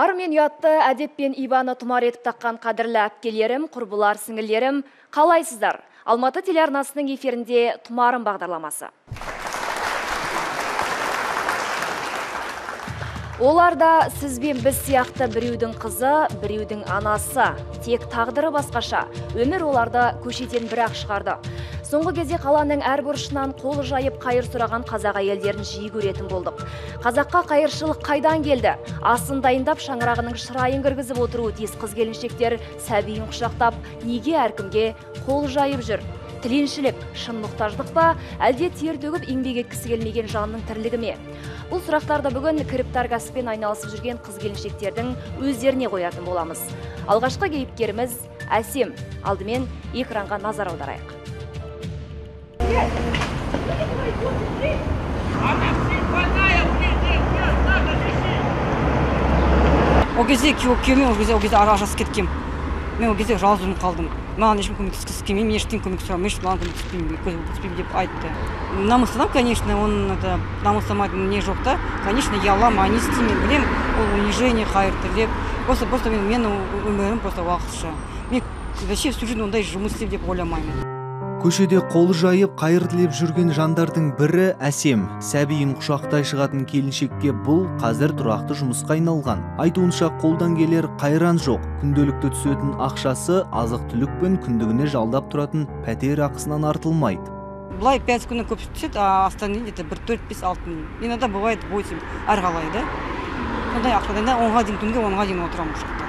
Ар мен ұятты әдеп пен ибаны тұмар етіп таққан қадірлі әпкелерім, құрбылар, сіңілерім, қалайсыздар? Алматы телеарнасының эфирінде Тұмарым бағдарламасы. Оларда сіз бен біз сияқты біреудің қызы, біреудің анасы. Тек тағдыры басқаша. Өмір оларды көшеден бір-ақ шығарды. Соңғы кезде қаланың әр бұрышынан қолы жайып қайыр сұраған қазақ әйелдерін жиі көретін болдық. Қазаққа қайыршылық қайдан келді? Асын дайындап шаңырағының шырайын кіргізіп отыруы тиіс қыз-келіншектер сәбиін құшақтап, неге әркімге қол жайып жүр? Тіленшілік, шын мұқтаждық па, әлде тер төгіп еңбек еткісі келмеген жанның тірлігі ме? Бұл сұрақтарды бүгін кіріптар кәсіппен айналысып жүрген қыз-келіншектердің өздеріне қоятын боламыз. Алғашқы кейіпкеріміз Әсем. Алдымен экранға назар аударайық. О кезде күйеуімен ол кезде ажырасып кеткем. Мен ол кезде жалғыз қалдым. Маған ешкім көмектескісі келмеймін, ештеңе көмек сұрамын, маған көмектеспеймін деп айтты. Намыстанам, конечно, он намыстамайды не жоқ та. Конечно, я лама, не істеймін, білем, ол унижение қайырды деп. Просто мен өмірім просто уақытша. Мен вообще всю жизнь ондай жұмыс істеп деп ойламаймын. Көшеде қолы жайып қайыр тілеп жүрген жандардың бірі Әсем. Сәбиін құшақтай шығатын келіншекке бұл қазір тұрақты жұмысқа айналған. Айтуынша қолдан келер қайран жоқ. Күнделікті түсетін ақшасы азық-түлік пен күндігіне жалдап тұратын пәтер ақысынан артылмайды. Былай 5 күні көп түседі, остальные где-то 4-5-6. Иногда бывает 8 әрғалай да. Сондай ақшада 10-ға дейін түнге 10-ға дейін отырамын ұшақта.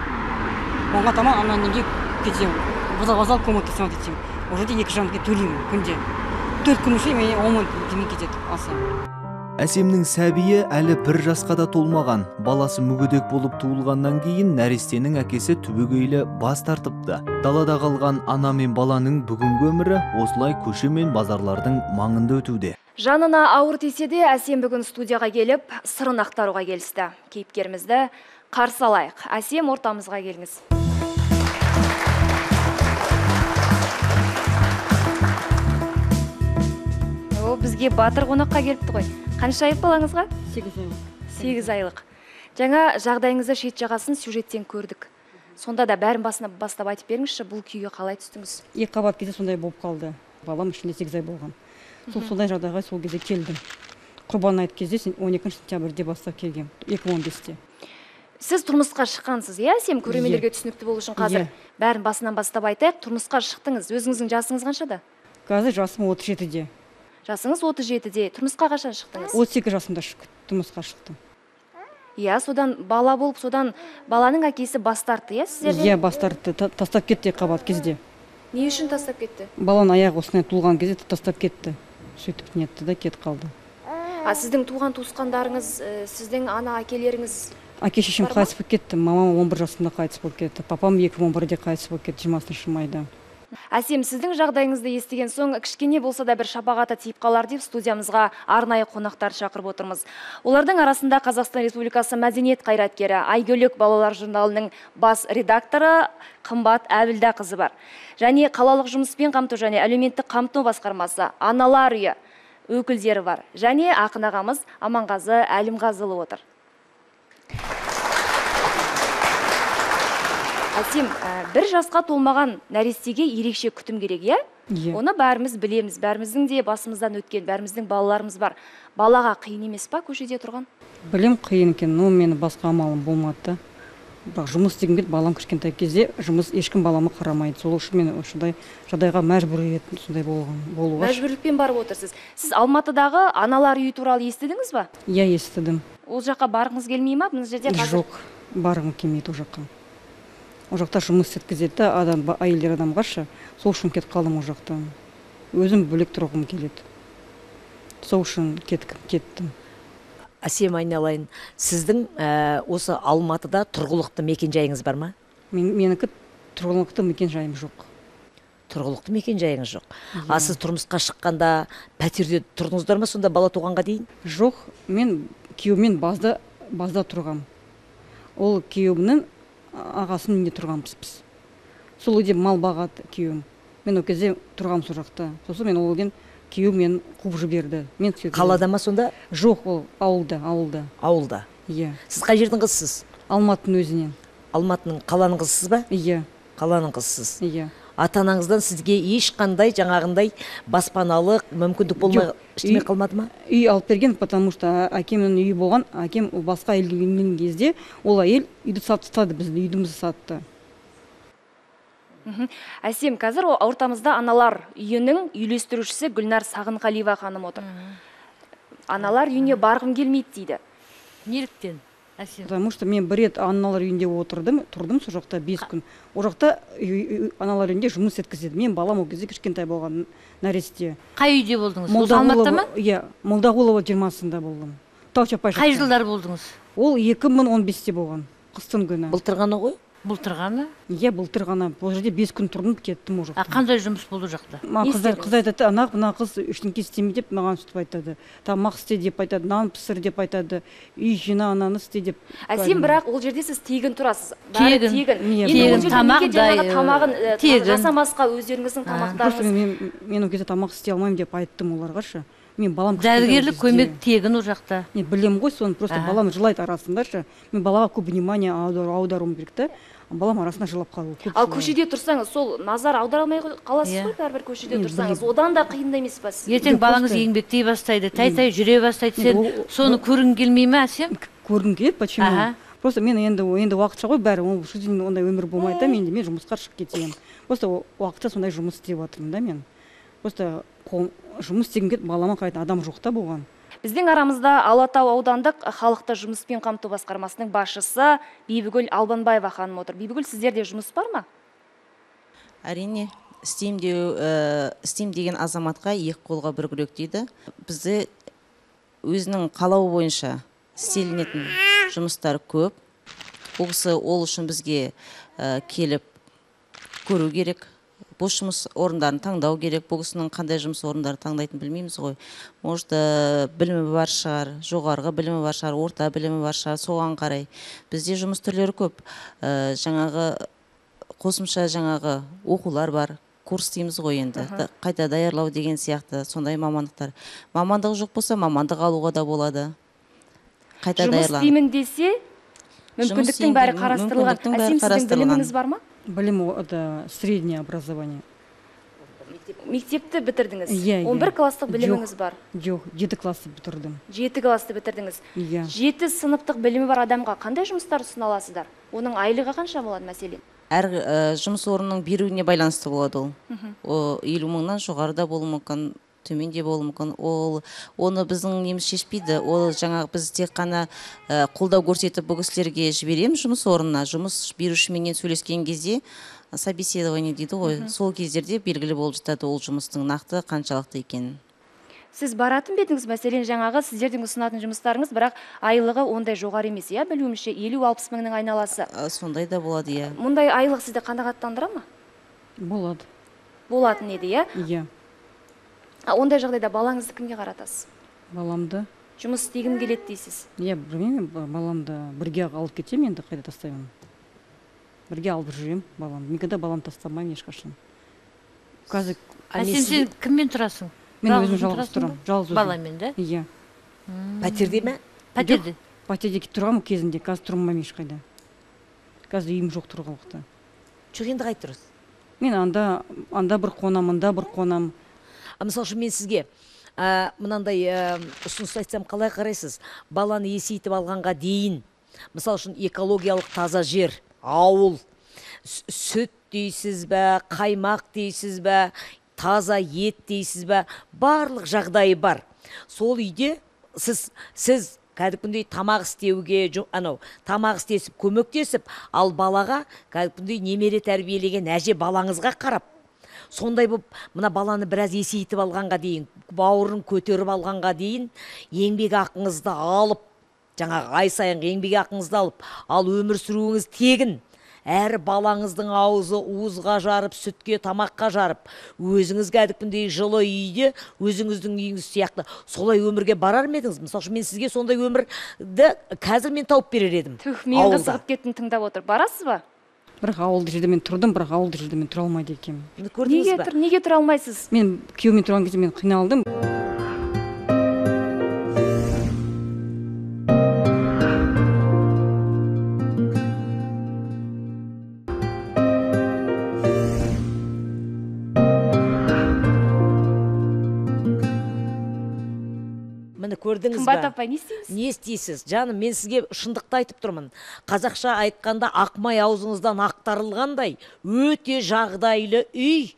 10-ға таман ана неге кетемін. Вокзал комнатасы смотреть етемін. Уже 2 жарымға төлеймін күнде. 4 күн үшін мен 10 мың демей кетеді аса. Әсемнің сәбиі әлі 1 жасқа да толмаған. Баласы мүгедек болып туылғаннан кейін нәрестенің әкесі түбегейлі бас тартыпты. Далада қалған ана мен баланың бүгінгі өмірі осылай көше мен базарлардың маңында өтуде. Жанына ауыр тисе де Әсем бүгін студияға келіп, сырын ақтаруға келісті. Кейіпкерімізді қарсы алайық. Әсем, ортамызға келіңіз. Бізге батыр қонаққа келіпті ғой. Қанша айлық балаңызға? 8 айлық. 8 айлық. Жаңа жағдайыңызды шет жағасын сюжеттен көрдік. Сонда да бәрін бастап айтып беріңізші, бұл күйге қалай түстіңіз? 2 қабат кезде сондай болып қалды. Балам ішінде 8 ай болған. Сондай жағдайға сол кезде келдім. Құрбан айт кезде 12 сентябрьде бастап келгем, 2015-те. Сіз тұрмысқа шыққансыз, Әсем, көрермендерге түсінікті болу үшін қазір бәрін басынан бастап айтайық. Тұрмысқа шықтыңыз. Өзіңіздің жасыңыз қаншада? Қазір жасым 37-де. Жасыңыз 37-де. Тұрмысқа қашан шықтыңыз? 38 жасымда тұрмысқа шықтым. Содан бала болып, содан баланың әкесі бас тартты, сіздерден? Бас тартты, тастап кетті қабат кезде. Не үшін тастап кетті? Баланың аяғы осындай туылған кезде тастап кетті. Сөйтіп нетті да кетіп қалды. Сіздің туған туысқандарыңыз, сіздің ана әкелеріңіз? Әке шешем қайтыс болып кетті. Мамам 11 жасында қайтыс болып кетті. Папам 2011-де қайтыс болып кетті, 20 майда. Әсем, сіздің жағдайыңызды естіген соң, кішкене болса да бір шапағаты тиіп қалар деп студиямызға арнайы қонақтар шақырып отырмыз. Олардың арасында Қазақстан Республикасы мәдениет қайраткері Айгөлек балалар журналының бас редакторы Қымбат Әбілда қызы бар. Және қалалық жұмыспен қамту және әлеуметтік қамту басқармасы аналар үйі өкілдері бар. Және ақын ағамыз Аманғазы Әлімғазылы отыр. Әсем, 1 жасқа толмаған нәрестеге ерекше күтім керек, Оны бәріміз білеміз, бәріміздің де басымыздан өткен, бәріміздің балаларымыз бар. Балаға қиын емес па көшеде тұрған? Білем қиын екен, но мені басқа амалым болмады. Жұмыс деген кезде балам кішкентай кезде ешкім баламы қарамайды. Сол үшін мен осындай жағдайға мәжбүр еттім, сондай болуға. Мәжбүрлікпен барып отырсыз. Сіз Алматыдағы аналар үйі туралы естідіңіз ба? Естідім. Ол жаққа барғыңыз келмей ма? Жоқ, барғым келмейді ол жаққа. О жақта жұмыс еткізеді, әйелдер адамғашы, сол үшін кетіп қалдым о жақта. Өзім бөлек тұрғым келеді. Сол үшін кеттім. Әсем, айналайын, сіздің осы Алматыда тұрғылықты мекен жайыңыз бар ма? Менікі тұрғылықты мекен жайым жоқ. Тұрғылықты мекен жайыңыз жоқ. Сіз тұрмысқа шыққанда пәтерде тұрдыңыздар ма сонда бала туғанға дейін? Жоқ, мен күйеумен базда тұрғам. Ол күйеуімнің ағасының үйінде тұрғанбыз біз. Сол үйде мал бағады күйеуім. Мен ол кезде тұрғам сол жақта. Сосын мен ол деген күйеуім мені қуып жіберді. Қалада ма сонда? Жоқ, ол ауылда. Ауылда. Иә. Сіз қай жердің қызысыз? Алматының өзінен. Алматының қаланың қызысыз ба? Иә. Қаланың қызысыз. Иә. Ата-анаңыздан сізге ешқандай жаңағындай баспаналық мүмкіндік болмай ештеңе қалмады ма? Үй алып берген, потому что әкемнің үйі болған, әкем басқа елге келген кезде ол әйел үйді сатты, біздің үйімізді сатты. Әсем, қазір ортамызда аналар үйінің үйлестірушісі Гүлнар Сағынғалиева ханым отыр. Аналар үйіне барғым келмейді дейді. Неліктен? Әсем. Потому что мен бір рет аналар үйінде тұрдым сол жақта 5 күн. Ол жақта аналар үйінде жұмыс еткізеді. Мен балам ол кезде кішкентай болған нәресте. Қай үйде болдыңыз? Осы Алматыда ма? Иә, Молдағұлова 20-сында болдым. Тау-Чапай жақта. Қай жылдар болдыңыз? Ол 2015-те болған. Қыстың күні. Былтыр ғана ғой? Былтырғаны? Иә, былтыр ғана. Бұл жерде 5 күн тұрдым, кеттім ол жақта. Қандай жұмыс болды жақта? Қыз айтады, мына қыз ештеңке істеме деп маған сөйтіп айтады. Тамақ істе деп айтады, нан пісір деп айтады, үй жина, ананы істе деп. Әсем, бірақ ол жерде сіз тегін тұрасыз. Тегін, тамақ тамағын жасамасқа өздеріңіздің тамақтарыңыз. Мен ол кезде тамақ істей алмаймын деп айттым оларға. Мен балам дәрігерлік көмек тегін ол жақта. Мен білем ғой, соны просто балам жылайды арасында. Мен балаға көп внимание аударуым керек та. Балам арасында жылап қалу. Ал көшеде тұрсаңыз, сол назар аудара алмай қаласыз ғой, бәрібір көшеде тұрсаңыз. Одан да қиындай емес па сіз? Ертең балаңыз еңбектей бастайды, тай-тай жүре бастайды. Сен соны көргің келмей ме, Әсем? Көргім келеді, почему? Просто мен енді уақытша ғой, бәрі ондай өмір болмайды да, мен жұмысқа шығып кетейін. Просто уақытша сондай жұмыс істеп жатырмын да мен. Просто жұмыс істегім келіп, балама қарайтын адам жоқ та болған. Біздің арамызда Алатау аудандық халықты жұмыспен қамту басқармасының басшысы Бибігүл Албанбаева ханым отыр. Бибігүл, сіздерде жұмыс бар ма? Әрине, істейм деген азаматқа екі қолға бір күрек дейді. Бізде өзінің қалауы бойынша істелінетін жұмыстар көп. Ол кісі ол үшін бізге келіп көру керек. Бос жұмыс орындарын таңдау керек. Бұл кісінің қандай жұмыс орындарын таңдайтын білмейміз ғой. Может, білімі бар шығар, жоғарғы білімі бар шығар, орта білімі бар шығар, соған қарай. Бізде жұмыс түрлері көп. Қосымша оқулар бар. Курс дейміз ғой енді. Қайта даярлау деген сияқты сондай мамандықтар. Мамандық жоқ болса, мамандық алуға да болады. Қайта даярлау. Жұмыс деймін десе, мүмкіндіктің бәрі қарастырылған. Әсем, сіздің біліміңіз бар ма? Білім это среднее образование. Мектепті бітірдіңіз? 11 класстық біліміңіз бар? Жоқ, 7 класты бітірдім. 7 класты бітірдіңіз? 7 сыныптық білімі бар адамға қандай жұмыстар ұсына аласыздар? Оның айлығы қанша болады мәселен? Әр жұмыс орнының беруіне байланысты болады ол. 50 мыңнан жоғарыда болуы мүмкін, төменде болуы мүмкін. Оны біздің неміз шешпейді. Ол біз тек қана қолдау көрсетіп бұл кісілерге жібереміз жұмыс орнына. Жұмыс берушіменен сөйлескен кезде собеседование дейді ғой. Сол кездерде белгілі болып жатады ол жұмыстың нақты қаншалықты екенін. Сіз баратын бетіңіз, мәселен сіздердің ұсынатын жұмыстарыңыз, бірақ айлығы ондай жоғары емес, иә, білуімше 50-60 мыңның айналасы. Сондай да болады, иә. Мұндай айлық сізді қанағаттандыра ма? Болады. Болатын еді, иә? Иә. Ондай жағдайда балаңызды кімге қаратасыз? Баламды. Жұмыс істегім келеді дейсіз? Иә, білмеймін, баламды бірге алып кетемін, енді қайда тастаймын. Бірге алып жүрем баламды. Никогда баламды тастамаймын ешқашан. Әсем, сен кіммен тұрасың? Мен өзім жалғыз тұрам. Баламен, да? Иә. Пәтерде ме? Пәтерде. Пәтерде тұрғам кезінде, қазір тұрмаймын ешқайда. Қазір үйім жоқ тұрғылықты. Жоқ, енді қай тұрыз? Мен анда бір қонам, анда бір қонам. Мысал үшін мен сізге мынандай ұсыныс айтсам қалай қарайсыз? Баланы есейтіп алғанға дейін, мысал үшін экологиялық таза жер, ауыл, сүт дейсіз бә, қаймақ дейсіз бә, таза ет дейсіз бә, барлық жағдайы бар. Сол үйде сіз кәдімгідей тамақ істеуге, тамақ істесіп, көмектесіп, ал балаға кәдімгідей немере тәрбиелеген әже балаңызға қарап, сондай болып, мына баланы біраз есейтіп алғанға дейін, бауырын көтеріп алғанға дейін, еңбек ақыңызды алып, ай сайын еңбек ақыңызды алып, ал өмір сүруіңіз тегін. Әр балаңыздың аузы уызға жарып, сүтке, тамаққа жарып, өзіңіз кәдімгідей жылы үйде, өзіңіздің үйіңіз сияқты солай өмірге барар ма едіңіз? Мысалы үшін мен сізге сондай өмірді қазір мен тауып берер едім. Мен қызығып кеттім, тыңдап отыр. Барасыз ба? Бірақ ауылды жерде мен тұрдым, бірақ ауылды жерде мен тұра алмайды екенмін. Неге тұра алмайсыз? Мен күйеумен тұрған кезде мен қиналдым. көрдіңіз Қымбат ба? апай, не істейміз? Не істейсіз? Жаным, мен сізге шындықты айтып тұрмын. Қазақша айтқанда ақмай аузыңыздан ақтарылғандай өте жағдайлы үй,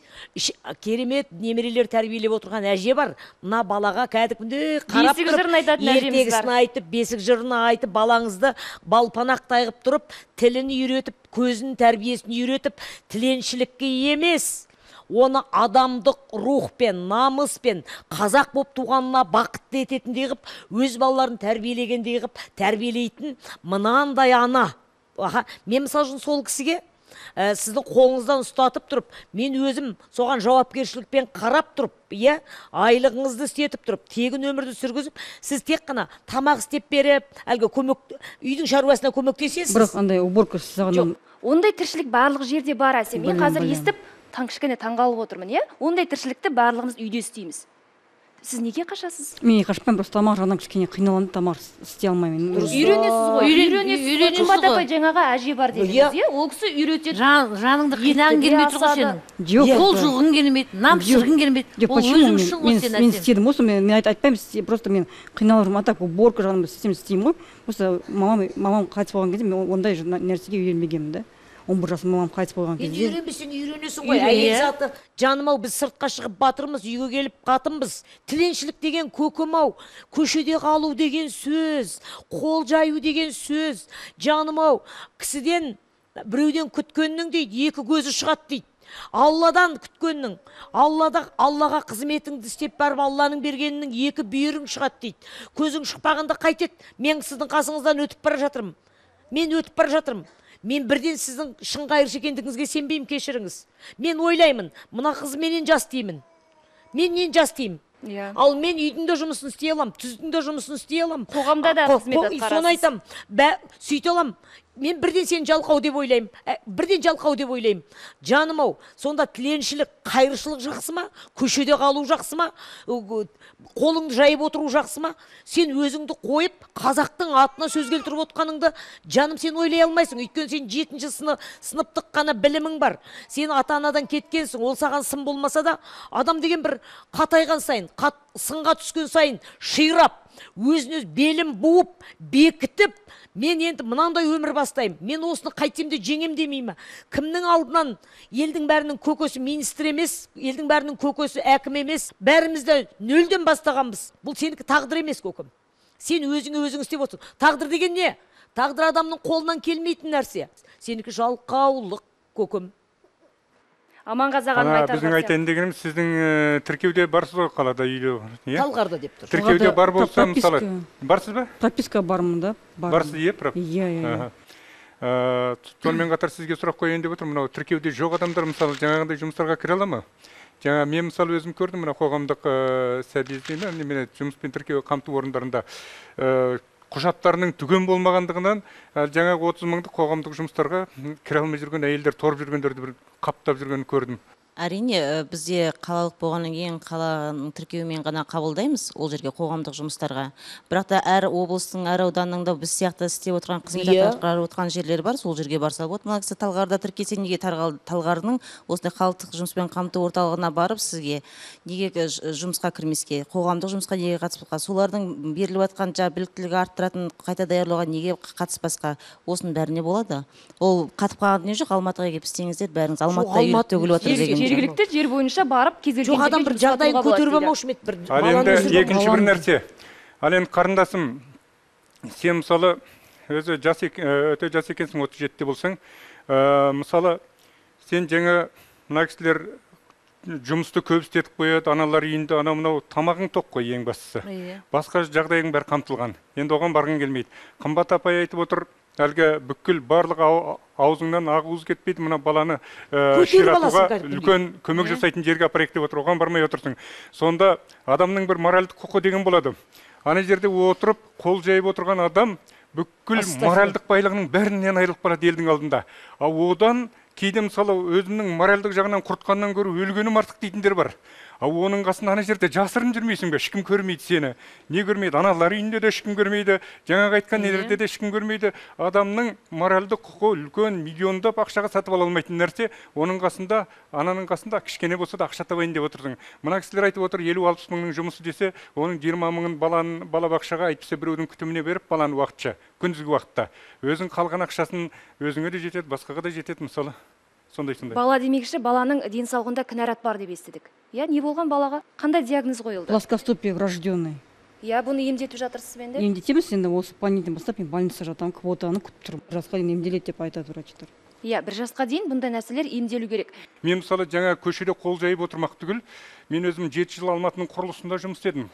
керемет немерелер тәрбиелеп отырған әже бар. Мына балаға кәдімгідей қарап Бесік жырын айтатын әжеміз бар. ертегісін айтып, бесік жырын айтып, балаңызды балпанақтай қылып тұрып, тілін үйретіп, көзін тәрбиесін үйретіп, тіленшілікке емес, оны адамдық рухпен, намыспен, қазақ боп туғанына бақытты ететіндей қып, өз балаларын тәрбиелегендей қып, тәрбиелейтін мынандай ана. Мен мысалы үшін сол кісіге сіздің қолыңыздан ұстатып тұрып, мен өзім соған жауапкершілікпен қарап тұрып, айлығыңызды істетіп тұрып, тегін өмірді сүргізіп, сіз тек қана тамақ істеп беріп, әлгі үйдің шаруасына көмектесесіз. Бірақ андай уборка Жоқ, ондай тіршілік барлық жерде бар, Әсем. Мен қазір естіп, кішкене таңғалып отырмын, ондай тіршілікті барлығымыз үйде істейміз. Сіз неге қашасыз? Мен қашпаймын, просто тамақ жағынан кішкене қиналамын, тамақ істей алмаймын. Үйренесіз ғой. Үйренесіз. Қымбат апай жаңаға әже бар дедіңіз, ол кісі үйретеді. Жаныңды қинағың келмейді ғой сенің. Жоқ, қол жуғың келмейді, нам пісіргің келмейді. Ол өзің үшін ғой сен. Мен істедім осы, мен айтпаймын, просто мен қиналырмын, а так уборка жағынан істеймін ғой. Просто мамам қайтыс болған кезде мен ондай нәрсеге үйренбегенмін да. 11 жасым мамам қайтыс болған кезде. Үйренбесең үйренесің ғой. Әйел заты, жаным-ау, біз сыртқа шығып батырмыз, үйге келіп қатынбыз. Тіленшілік деген көкім-ау, көшеде қалу деген сөз, қол жаю деген сөз. Жаным-ау, кісіден біреуден күткеннің дейді, екі көзі шығады дейді. Алладан күткеннің, Аллаға қызметіңді істеп барып, Алланың бергенінің екі бүйірің шығады дейді. Көзің шықпағанда қайтеді? Мен сіздің қасыңыздан өтіп бара жатырмын. Мен бірден сіздің шын қайыршы екендігіңізге сенбеймін, кешіріңіз. Мен ойлаймын, мына қыз менен жас деймін. Менен жас деймін. Ал мен үйдің де жұмысын істей алам, түздің де жұмысын істей алам. Қоғамда да қызмет атқарасыз. Соны айтам, сөйте алам. Мен бірден сені жалқау деп ойлаймын. Жаным-ау, сонда тіленшілік, қайыршылық жақсы ма? Көшеде қалу жақсы ма? Қолыңды жайып отыру жақсы ма? Сен өзіңді қойып, қазақтың атына сөз келтіріп отқаныңды, жаным, сен ойлай алмайсың. Өйткені сен 7-ші сыныптық қана білімің бар. Сен ата-анадан кеткенсің, ол саған сын болмаса да, адам деген бір қатайған сайын, сынға түскен сайын ширап, өзін-өз белім буып, бекітіп, мен енді мынандай өмір бастаймын. Мен осыны қайтсем де жеңем демеймін. Кімнің алдынан елдің бәрінің көкесі министр емес, елдің бәрінің көкесі әкім емес, бәріміз де нөлден бастағанбыз. Бұл сенікі тағдыр емес, көкім. Сен өзің істеп отырсың. Тағдыр деген не? Тағдыр адамның қолынан келмейтін нәрсе. Сенікі жалқаулық, көкім. Аманғазы ағаның айтар біздің айтайын дегеніміз, сіздің тіркеуде барсыз ғой, қалада үйде. Талғарда деп тұр. Тіркеуде бар болса, мысалы, барсыз ба? Прописка бармын да. Барсыз, прописка. Иә. Сонымен қатар сізге сұрақ қояйын деп отырмын. Мынау тіркеуде жоқ адамдар, мысалы, жаңағындай жұмыстарға кіре ала ма? Жаңа мен мысалы өзім көрдім, мына қоғамдық сәбиіздейме, жұмыспен тіркеу қамту орындарында құжаттарының түген болмағандығынан жаңағы 30 мыңдық қоғамдық жұмыстарға кіре алмай жүрген әйелдер торып жүргендерді бір қаптап жүргенін көрдім. Әрине, бізде қалалық болғаннан кейін қаланың тіркеуімен ғана қабылдаймыз ол жерге қоғамдық жұмыстарға. Бірақ та әр облыстың, әр ауданның да біз сияқты істеп отырған, қызмет атқарып отырған жерлер бар, сол жерге барса болады. Мына кісі Талғарда тіркелсе, неге Талғарының осындай халықтық жұмыспен қамту орталығына барып сізге неге жұмысқа кірмеске, қоғамдық жұмысқа неге қатыспасқа, солардың беріліп жатқан біліктілігі арттыратын қайта даярлауға неге қатыспасқа, осының бәріне болады. Ол қатып қалған не жоқ, Алматыға келіп істеңіздер, бәріңіз Алматыда үйіп төгіліп отыр деген. Жергілікті жер бойынша барып кезелген жоқ адам бір жағдайын көтеріп алмаушы ма еді? Ал енді екінші бір нәрсе. Ал енді қарындасым, сен мысалы өзі өте жас екенсің, 37-те болсаң, мысалы сен жаңа мына кісілер жұмысты көп істетіп қояды, аналар үйінде, анау-мынау тамағың тоқ қой, ең бастысы. Басқа жағдайың бәрі қамтылған. Енді оған барғың келмейді. Қымбат апай айтып отыр, әлгі бүкіл барлық аузыңнан ағуыз кетпейді, мына баланы ширатуға үлкен көмек жасайтын жерге апарайық деп отыр, оған бармай отырсың. Сонда адамның бір моральдық құқы деген болады. Ана жерде отырып, қол жайып отырған адам бүкіл моральдық байлығының бәрінен айырылып барады елдің алдында. Одан кейде мысалы өзінің моральдық жағынан құртқаннан көрі өлгенім артық дейтіндер бар. оның қасында ана жерде жасырын жүрмейсің бе? Ешкім көрмейді сені. Не көрмейді? Аналар үйінде де ешкім көрмейді. Жаңағы айтқан нелерде де ешкім көрмейді. Адамның моральдық құқы үлкен миллиондап ақшаға сатып ала алмайтын нәрсе. Оның қасында, ананың қасында кішкене болса да ақша табайын деп отырдың. Мына кісілер айтып отыр 50-60 мыңның жұмысы десе, оның 20 мыңын балабақшаға әйтпесе біреудің күтіміне беріп баланы уақытша, күндізгі уақытта. Өзің қалған ақшасын өзіңе де жетеді, басқаға да жетеді мысалы. Сондай. Бала демекші, баланың денсаулығында кінәрат бар деп естідік. Я, не болған балаға? Қандай диагноз қойылды? Плоскостопие врожденный. Я, бұны емдетіп жатырсыз бен де? Емдетеміз енді, осы понедельник бастап мен больницада жатамын, квотаны күтіп тұрмын. Жасқа дейін емделеді деп айтады врачтар. Я, бір жасқа дейін бұндай нәрселер емделу керек. Мен мысалы жаңа көшеде қол жайып отырмақ түгіл, мен өзім 7 жыл Алматының құрылысында жұмыс істедім.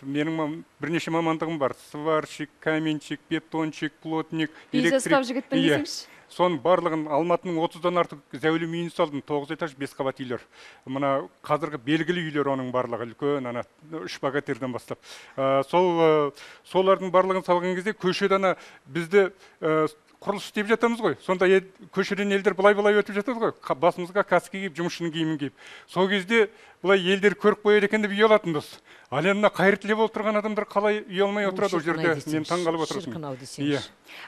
Менің бірнеше мамандығым бар. Сварщик, каменщик, бетонщик, плотник, электрик. Жігітпін десеңші. Соның барлығын Алматының 30-дан артық зәулім үйін салдым, 9 этаж 5 қабат үйлер. Мына қазіргі белгілі үйлер оның барлығы үлкен, ана 3 богатырьдан бастап. Солардың барлығын салған кезде көшеден бізді құрылыс істеп жатамыз ғой. Сонда көшеден елдер былай өтіп жатады ғой. Басымызға каска киіп, жұмысшының киімін киіп. Сол кезде былай елдер көріп қояды екен деп ұялатынбыз. Ал енді қайыр тілеп отырған адамдар қалай ұялмай отырады ол жерде? Мен таңғалып отырмын.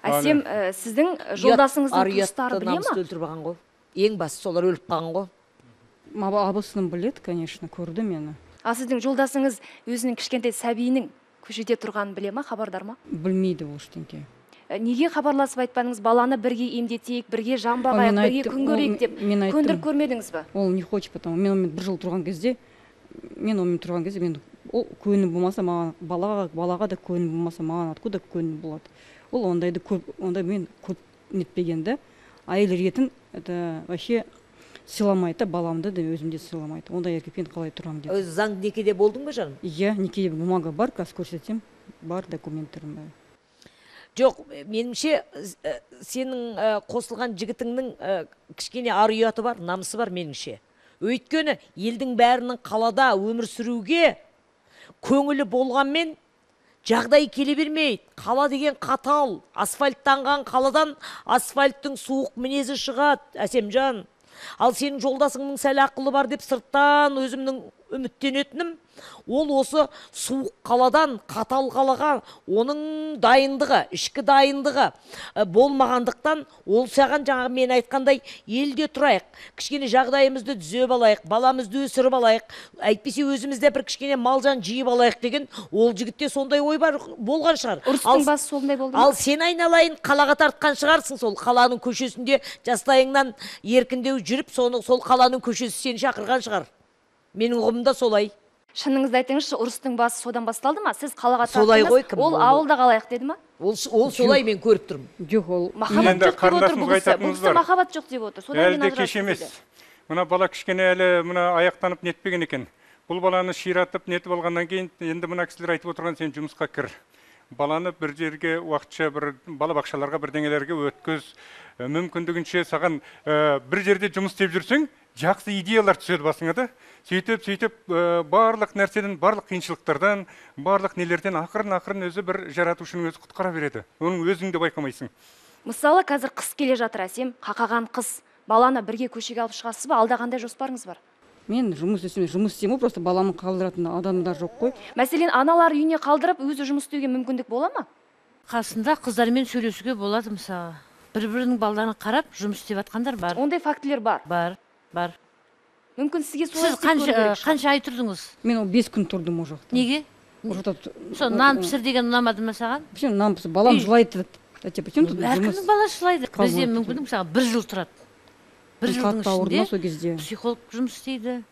Әсем, сіздің жолдасыңыздың туыстары біле ма? Өлтіріп алған ғой. Ең басы солар өліп қалған ғой. Абысыным біледі, конечно, көрді мені. А сіздің жолдасыңыз өзінің кішкентай сәбиінің көшеде тұрғанын біле ма, хабардар ма? Білмейді ол ештеңке. Неге хабарласып айтпадыңыз, баланы бірге емдетейік, бірге жан бағайық, бірге күн көрейік деп көндіріп көрмедіңіз ба? Ол не хочет, потому мен бір жыл тұрған кезде, ол көңіл болмаса маған, балаға да көңіл болмаса маған откуда көңіл болады. Ол онда мен көп нетпегенді, әйел ретін вообще сыйламайды, баламды да өзімде сыйламайды. Онда еркекпен қалай тұрамын деп. Өзі заң некеде болдың ба жаным? Иә, некеде бумага бар, қазір көрсетсем, бар документтерім бар. Жоқ, меніңше сенің қосылған жігітіңнің кішкене ар ұяты бар, намысы бар меніңше. Өйткені елдің бәрінің қалада өмір сүруге көңілі болғанмен жағдай келе бермейді. Қала деген қатал, асфальттанған қаладан асфальттың суық мінезі шығады, Әсемжан. Ал сенің жолдасыңның сәл ақылы бар деп сырттан өзімнің үміттенетінім, ол осы суық қаладан қатал қалаға оның дайындығы, ішкі дайындығы болмағандықтан, ол саған жаңағы мен айтқандай елде тұрайық, кішкене жағдайымызды түзеп алайық, баламызды өсіріп алайық, әйтпесе өзімізде бір кішкене малжан жиып алайық деген, ол жігітте сондай ой бар болған шығар. Ұрыстың басы сондай болды. Ал сен айналайын қалаға тартқан шығарсың, сол қаланың көшесінде жастайыңнан еркіндеу жүріп, сол қаланың көшесі сені шақырған шығар. Менің ұғымда солай. Шыныңызды айтыңызшы, ұрыстың басы содан басталды ма? Сіз қалаға солай ғой, тарттыңыз, ол ауылда қалайық деді ма? Ол солай мен көріп тұрмын. Жоқ, ол махаббат жоқ деп отыр бұл кісі. Бұл кісі махаббат жоқ деп отыр. Әлі де кеш емес. Мына бала кішкене әлі мына аяқтанып нетпеген екен. Бұл баланы ширатып нетіп алғаннан кейін енді мына кісілер айтып отырған, сен жұмысқа кір. Баланы бір жерге уақытша бір балабақшаларға бірдеңелерге өткіз. Мүмкіндігінше саған бір жерде жұмыс істеп жүрсең, жақсы идеялар түседі басыңа да. Сөйтіп барлық нәрседен, барлық қиыншылықтардан, барлық нелерден ақырын өзі бір жаратушының өзі құтқара береді. Оның өзің де байқамайсың. Мысалы, қазір қыс келе жатыр, Әсем, қақаған қыс. Баланы бірге көшеге алып шығасыз ба? Алда қандай жоспарыңыз бар? Мен жұмыс істеймін, просто баламын қалдыратын адамдар жоқ қой. Мәселен, аналар үйіне қалдырып, өзі жұмыс істеуге мүмкіндік бола ма? Қасында қыздармен сөйлесуге болады мысалы. Бір-бірінің балаларына қарап жұмыс істеп жатқандар бар. Ондай фактілер бар. Бар. Мүмкін сізге солай істеп көру керек. Сіз қанша ай тұрдыңыз? Мен 5 күн тұрдым ол жақта. Неге? Сол нан пісір деген ұнамады ма саған? Почему нан пісір? Балам жылайды. Әркімнің баласы жылайды. Бізде мүмкін мысалы 1 жыл тұрады. 1 жылдың ішінде психолог жұмыс істейді.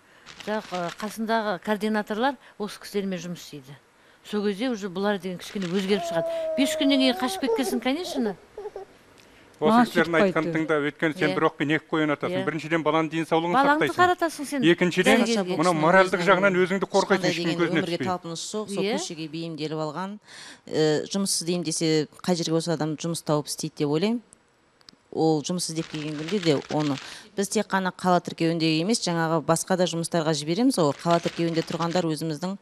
Қасындағы координаторлар осы кісілермен жұмыс істейді. Сол кезде уже бұлар деген кішкене өзгеріп шығады. 5 күннен кейін қашып кеткенсің, конечно. Осы кісілердің айтқан тыңда, өйткені сен бір оқпен 2 қойын атасың. Біріншіден баланың денсаулығын сақтайсың. Балаңды қаратасың сен. Екіншіден, мына моральдық жағынан өзіңді қорғайсың, ешкім көзіне түспей. Өмірге талпыныс жоқ, сол көшеге бейімделіп алған. Жұмыс іздеймін десе, қай жерге осы адам жұмыс тауып істейді деп ойлаймын. Ол жұмыс іздеп келген күнде де оны біз тек қана қала тіркеуінде емес, жаңағы басқа да жұмыстарға жібереміз. Ол қала тіркеуінде тұрғандар өзіміздің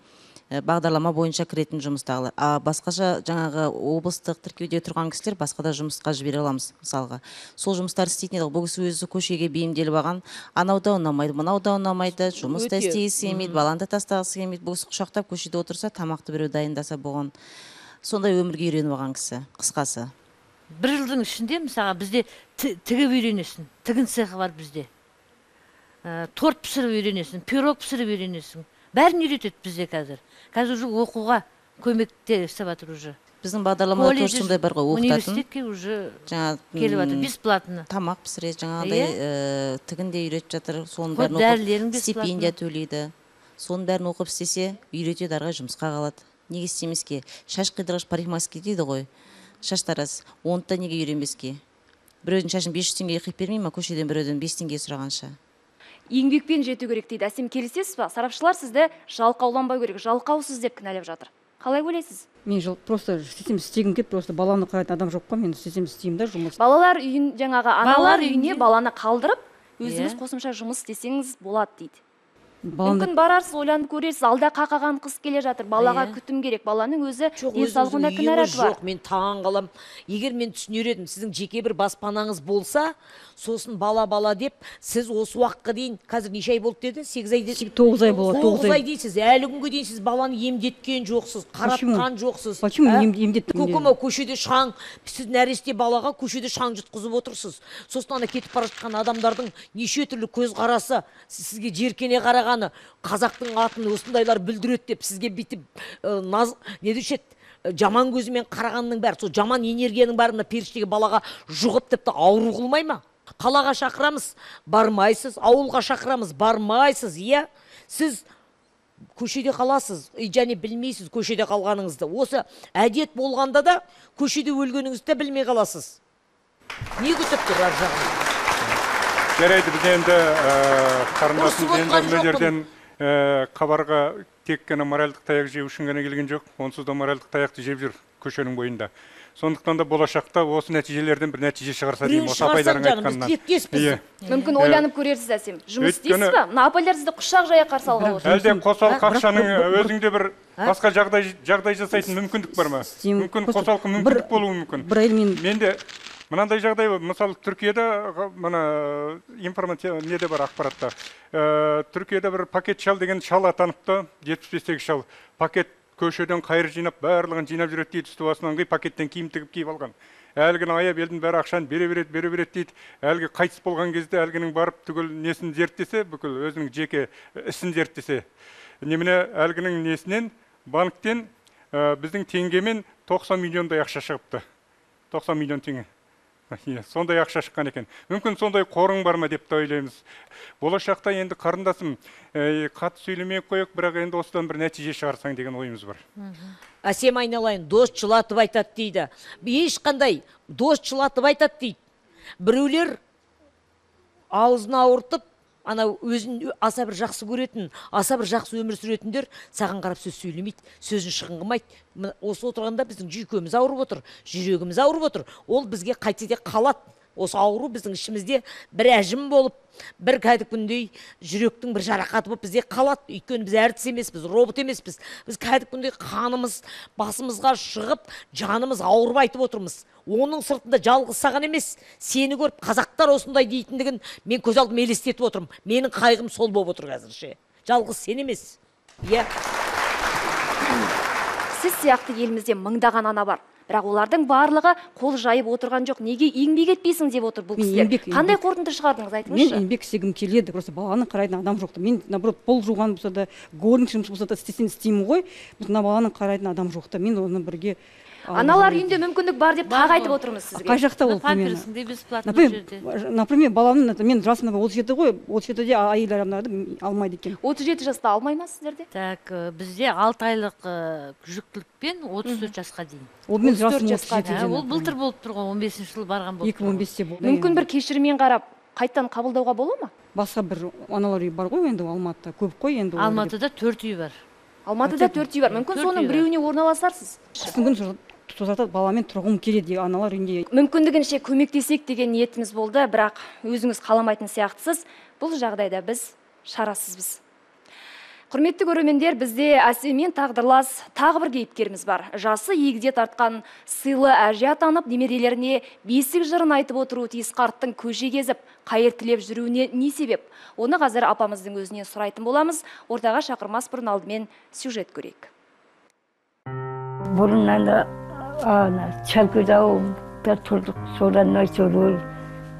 бағдарлама бойынша кіретін жұмыстағылар. А басқаша жаңағы облыстық тіркеуде тұрған кісілер басқада жұмысқа жібере аламыз мысалға. Сол жұмыстар істейтін едік. Бұл кісі өзі көшеге бейімделіп алған, анау да ұнамайды, мынау да ұнамайды, жұмыс та істегісі келмейді, баланы да тастағысы келмейді. Бұл кісі құшақтап көшеде отырса, тамақты біреу дайындаса болған. Сондай өмірге үйреніп алған кісі, қысқасы. Бір жылдың ішінде мысалға бізде тігіп үйренесің, тігін цехы бар бізде. Торт пісіріп үйренесің, пирог пісіріп үйренесің. Бәрін үйретеді бізде қазір. Қазір уже оқуға көмекте істеп жатыр уже. Біздің бағдарламада тоже сондай бар ғой, оқытатын. Университетке уже келіп жатыр, бесплатно. Тамақ пісіреді, жаңағыдай тігін де үйретіп жатыр. Соның бәрін оқып, стипендия төлейді. Соның бәрін оқып істесе, үйретеді, арға жұмысқа қалады. Неге істемеске? Шаш қидырғыш парикмахерский дейді ғой. Шаш тарас. Оны да неге үйренбеске? Біреудің шашын 500 теңгеге қиып бермей ма, көшеден біреуден 5 теңге сұрағанша? Еңбекпен жету керек дейді. Әсем, келісесіз ба? Сарапшылар сізді жалқауланбау керек, жалқаусыз деп кінәлап жатыр. Қалай ойлайсыз? Мен просто істегім келіп, просто баланы қарайтын адам жоқ қой, мен істеймін да жұмыс. Балалар үйін, жаңағы аналар үйіне баланы қалдырып, өзіңіз қосымша жұмыс істесеңіз болады дейді. Мүмкін барарсыз, ойланып көресіз, алда қақаған қыз келе жатыр, балаға күтім керек, баланың өзі денсаулығында кінәраты бар. Жоқ, мен таң қалам. Егер мен түсінер едім, сіздің жеке бір баспанаңыз болса, сосын бала деп, сіз осы уақытқа дейін, қазір неше ай болды деді? 8 ай деді? 9 ай болады. 9 ай дейсіз, әлі күнге дейін сіз баланы емдеткен жоқсыз, қаратқан жоқсыз. Почему емдеттім? Көкема көшеде шаң, сіз нәресте балаға көшеде шаң жұтқызып отырсыз. Сосын ана кетіп бара жатқан адамдардың неше түрлі көзқарасы, сізге жеркене қарағаны, қазақтың атын осындайлар бүлдіреді деп сізге бүйтіп не деуші еді, жаман көзімен қарағанның бәрі, сол жаман энергияның бәрі періштеге балаға жұғып тіпті ауру қылмай ма? Қалаға шақырамыз, бармайсыз, ауылға шақырамыз, бармайсыз, иә? Сіз көшеде қаласыз, және білмейсіз көшеде қалғаныңызды. Осы әдет болғанда да көшеде өлгеніңізді білмей қаласыз. Не күтіп тұр ар жағын? Жарайды, біз енді қарындасымыз жерден қабарға тек қана моральдық таяқ жеу үшін ғана келген жоқ, онсыз да моральдық таяқты жеп жүр көшенің бойында. Сондықтан да болашақта осы нәтижелерден бір нәтиже шығарса деймін, осы апайлардың айтқанынан. Мүмкін ойланып көрерсіз, Әсем. Жұмыс істейсіз ба? Мына апайлар сізді құшақ жая қарсы алғалы отыр. Әлде қосалқы ақшаның өзіңде бір басқа жағдай жасайтын мүмкіндік бар ма? Мүмкін қосалқы мүмкіндік болуы мүмкін. Менде мынандай жағдай, мысалы Түркияда мына информация неде бар ақпаратта. Түркияда бір пакет шал деген шал атаныпты, 75-тегі шал. Пакет көшеден қайыр жинап, барлығын жинап жүреді дейді, үсті басынан пакеттен киім тігіп киіп алған. Әлгіні аяп елдің бәрі ақшаны бере береді дейді. Әлгі қайтыс болған кезде әлгінің барып түгіл несін зерттесе, бүкіл өзінің жеке ісін зерттесе. Немене әлгінің несінен банктен біздің теңгемен 90 миллиондай ақша шығыпты. 90 миллион теңге. Сондай ақша шыққан екен. Мүмкін сондай қорың бар ма деп те ойлаймыз. Болашақта енді қарындасым, қатты сөйлемей қойық, бірақ енді осыдан бір нәтиже шығарсаң деген ойымыз бар. Әсем, айналайын, дос жылатып айтады дейді. Ешқандай дос жылатып айтады дейді. Біреулер аузын ауыртып, ана өзін аса бір жақсы көретін, аса бір жақсы өмір сүретіндер саған қарап сөз сөйлемейді, сөзін шығын қылмайды. Осы отырғанда біздің жүйкеміз ауырып отыр, жүрегіміз ауырып отыр. Ол бізге қайтсе де қалады. Осы ауру біздің ішімізде бір әжім болып, бір кәдімгідей жүректің бір жарақаты болып бізде қалады. Өйткені біз әртіс емеспіз, робот емеспіз. Біз кәдімгідей қанымыз басымызға шығып, жанымыз ауырып айтып отырмыз. Оның сыртында жалғыз саған емес, сені көріп қазақтар осындай дейтіндігін мен көз алдыма елестетіп отырмын. Менің қайғым сол болып отыр қазірше. Жалғыз сен емес. Иә. Сіз сияқты елімізде мыңдаған ана бар. Бірақ олардың барлығы қол жайып отырған жоқ. Неге еңбек етпейсің деп отыр бұл кісілер. Қандай қорытынды шығардыңыз, айтыңызшы? Мен еңбек істегім келеді, просто баланы қарайтын адам жоқты. Мен наоборот пол жуған болса да, горничный жұмыс болса да істеймін ғой. Мына баланы қарайтын адам жоқты. Мен оны бірге аналар үйінде мүмкіндік бар деп тағы айтып отырмыз сізге. Қай жақта ол? Памперсіңде бесплатно жерде. Например, баламның мен жасым 37 ғой, 37-де әйел адамдарды алмайды екен. 37 жаста алмай ма сіздерде? Так, бізде 6 айлық жүктілікпен 34 жасқа дейін. Ол мен жасым 37-де. Ол былтыр болып тұр ғой, 15 жыл барған болып. 2015-те болды. Мүмкін бір кешіріммен қарап, қайттан қабылдауға бола ма? Басқа бір аналар үйі бар ғой енді Алматыда, көп қой енді. Алматыда 4 үй бар. Алматыда 4 үй бар. Мүмкін соның біреуіне орналасарсыз. Тозатады, баламен тұрғым келеді аналар үйінде. Мүмкіндігінше көмектесек деген ниетіміз болды, бірақ өзіңіз қаламайтын сияқтысыз. Бұл жағдайда біз шарасызбыз. Құрметті көрермендер, бізде Әсеммен тағдырлас тағы бір кейіпкеріміз бар. Жасы егде тартқан сыйлы әже атанып, немерелеріне бесік жырын айтып отыру тиіс қарттың көше кезіп, қайыр тілеп жүруіне не себеп? Оны қазір апамыздың өзінен сұрайтын боламыз. Ортаға шақырмас бұрын алдымен сюжет көрейік. Бұрыннан Чалкөз-ауылда тұрдық, содан Нойсөлөл.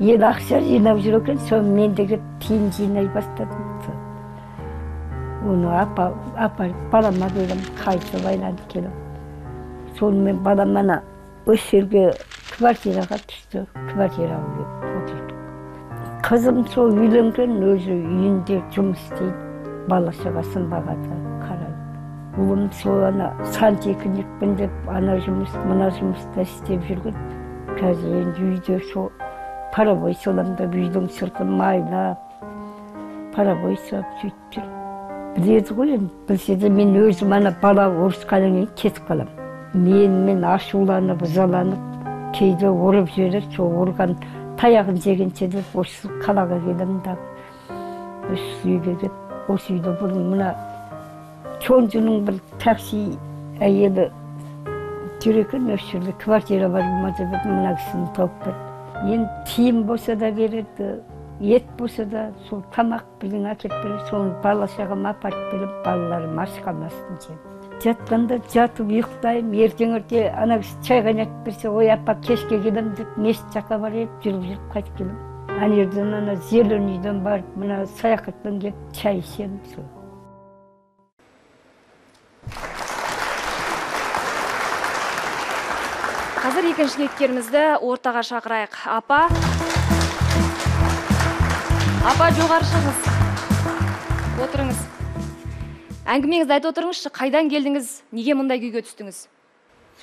Ел ақша жинап жүр екен, соны мен де тиын жинай бастадым. Оны балама бердім, қайсы байланып келіп. Сонымен баламана осы жерге квартираға түсті, квартираға отырдық. Қызым сол үйленген, өзі үйінде жұмыс істейді, бала шағасын бағады, қарайды. Ұлым сол сантехникпін деп, ана жұмыс, мына жұмыста істеп жүрген. Қазір енді үйде сол паровой соламда үйдің сыртын майлап, паровой сап сөйтіп жүр. Біледі ғой, білсе де мен өзім бала ұрысқаннан кейін кетіп қалам. Мен ашуланып, ызаланып, кейде ұрып жібереді, сол ұрған таяғын жегенше деп осы қалаға келдім да. Осы үйге келіп, осы үйде бұрын мына Чонжының бір такси әйелі жүр екен, осы жерде квартира бар ма деп мына кісіні тауып берді. Енді тиын болса да береді, ет болса да, сол тамақ біздің әкеп береді, соны бала шағама апарып беріп, балаларым аш қалмасын деп. Жатқанда жатып ұйықтаймын, ертеңерде ана кісі чай қайнатып берсе, ой апа кешке келем деп мешіт жаққа барып жүріп қайтып келем. Ана жерден зеленыйден барып, мына саяхаттан келіп чай ішемін сол. Қазір екінші кейіпкерімізді ортаға шақырайық. Апа, жоғары шығыңыз. Отырыңыз. Әңгімеңізді айтып отырыңызшы, қайдан келдіңіз, неге мұндай күйге түстіңіз?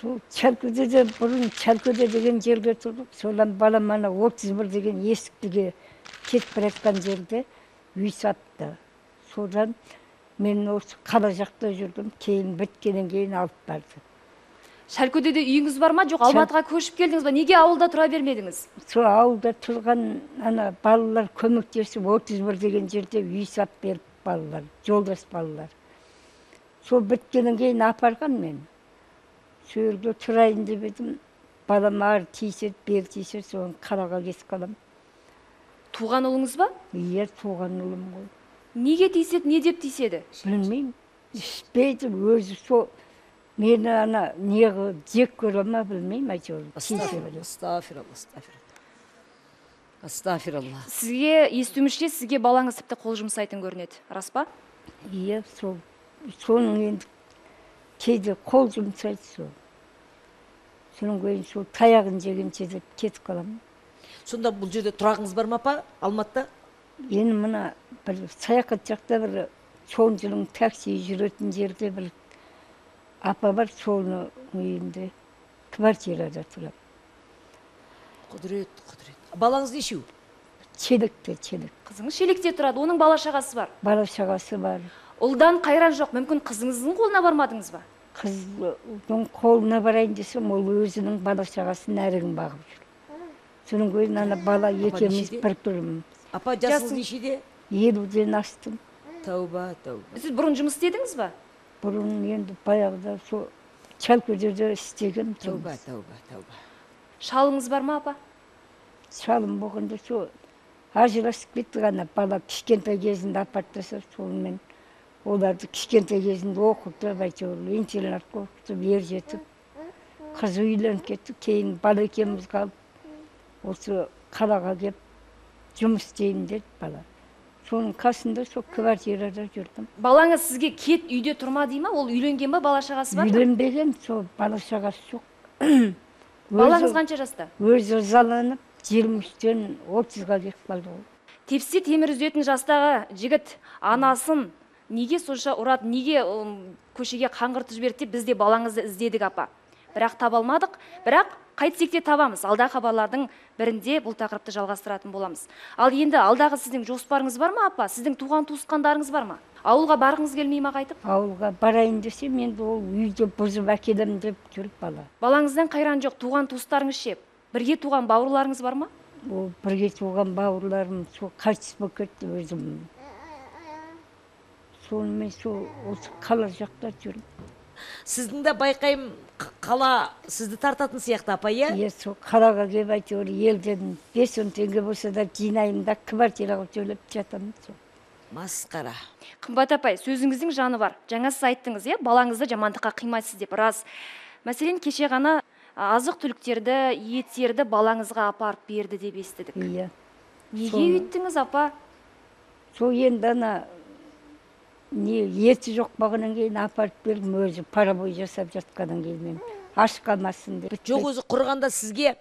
Сол Чалкөзеде, бұрын Чалкөзе деген жерге тұрдық. Содан баламана 31 деген есіктіге кетіп бара жатқан жерде үй сатты. Содан мен осы қала жақта жүрдім, кейін біткеннен кейін алып барды. Шалкөдеде үйіңіз бар ма, жоқ Алматыға көшіп келдіңіз ба? Неге ауылда тұра бермедіңіз? Сол ауылда тұрған балалар көмектесіп 31 деген жерде үй сап беріп балалар, жолдас балалар. Сол біткеннен кейін апарған мен. Сол жерде тұрайын деп едім, балам ар тиіседі, бер тиіседі, соны қалаға кетіп қалам. Туған ұлыңыз ба? Иә, туған ұлым ғой. Неге тиіседі, не деп тиіседі? Білмеймін, ішпейді, өзі сол. Мені неғі жек көре ма білмеймін, әйтеуір. Астафиралла. Сізге естуімізше сізге балаңыз тіпті қол жұмсайтын көрінеді, рас па? Иә, соның енді кейде қол жұмсайды сол. Соның кейін сол таяғын жегенше деп кетіп қалам. Сонда бұл жерде тұрағыңыз бар ма апа, Алматыда? Енді мына бір саяхат жақта бір Чонжының такси жүретін жерде бір апа бар, соны үйінде квартирада тұрады. Құдірет. Балаңыз нешеу? Челекте. Қызыңыз шелекте тұрады, оның бала шағасы бар. Бала шағасы бар. Ұлдан қайран жоқ, мүмкін қызыңыздың қолына бармадыңыз ба? Қыздың қолына барайын десем, ол өзінің бала шағасын әрігін бағып жүр. Соның кейін бала екеуміз бір тұрмыз. Апа, жасыңыз нешеде? 50-ден астым. Тауба. Сіз бұрын жұмыс істедіңіз ба? Бұрын енді баяғыда сол Чалкөзеде істеген тұрмыз. Тауба. Шалыңыз бар ма, апа? Шалым болғанда сол ажырасып кетті ғана, бала кішкентай кезінде апарттаса, сонымен оларды кішкентай кезінде оқытып, әйтеуір интернатқа оқытып, ер жетіп, қыз үйленіп кетті, кейін бала екеуміз қалып, осы қалаға келіп жұмыс істейін деді бала. Соның қасында сол квартирада жүрдім. Балаңыз сізге кет үйде тұрма дей ма? Ол үйленген ба, бала шағасы бар ма? Үйленбеген, сол бала шағасы жоқ. Балаңыз қанша жаста? Өзі ызаланып, 23-тен 30-ға кетіп қалды ғой. Тепсе темір үзетін жастағы жігіт анасын неге сонша ұрады, неге көшеге қаңғыртып жіберді деп біз де балаңызды іздедік, апа. Бірақ таба алмадық, бірақ қайтсек те табамыз. Алдағы хабарлардың бірінде бұл тақырыпты жалғастыратын боламыз. Ал енді алдағы сіздің жоспарыңыз бар ма, апа? Сіздің туған туысқандарыңыз бар ма? Ауылға барғыңыз келмей ма қайтып? Ауылға барайын десем, енді ол үйде бұзып әкелем деп жүріп бала. Балаңыздан қайран жоқ, туған туыстарыңыз ше? Бірге туған бауырларыңыз бар ма? Ол бірге туған бауырларым сол қайтыс болып кетті өзім. сонымен осы қала жақта жүрмін. Сіздің де байқаймын қала сізді тартатын сияқты апа, иә? Иә, сол қалаға келіп әйтеуір елден 5-10 теңге болса да жинаймын да квартираға төлеп жатамын. Масқара. Қымбат апай, сөзіңіздің жаны бар. Жаңа сіз айттыңыз, иә, балаңызды жамандыққа қимайсыз деп. Рас. Мәселен, кеше ғана азық түліктерді, еттерді балаңызға апарып берді деп естідік. Иә. Неге үйттіңіз, апа? Сол енді ана еті жоқ бағынан кейін апарып бердім, өзі парабой жасап жатқаннан кейін мен аш қалмасын деп. Жоқ, өзі құрғанда сізге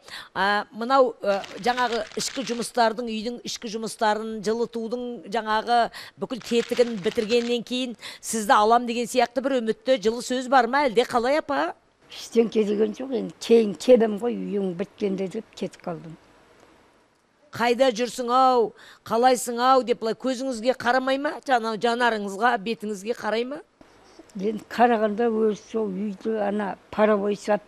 мынау жаңағы ішкі жұмыстардың, үйдің ішкі жұмыстарын, жылытудың жаңағы бүкіл тетігін бітіргеннен кейін сізді алам деген сияқты бір үмітті жылы сөз бар ма, әлде қалай апа? Ештеңке деген жоқ, енді кейін келем ғой, үйің біткенде деп кетіп қалдым. Қайда жүрсің ау, қалайсың ау деп былай көзіңізге қарамай ма? Жанарыңызға, бетіңізге қарай ма? Енді қарағанда өз сол үйді ана парабой сап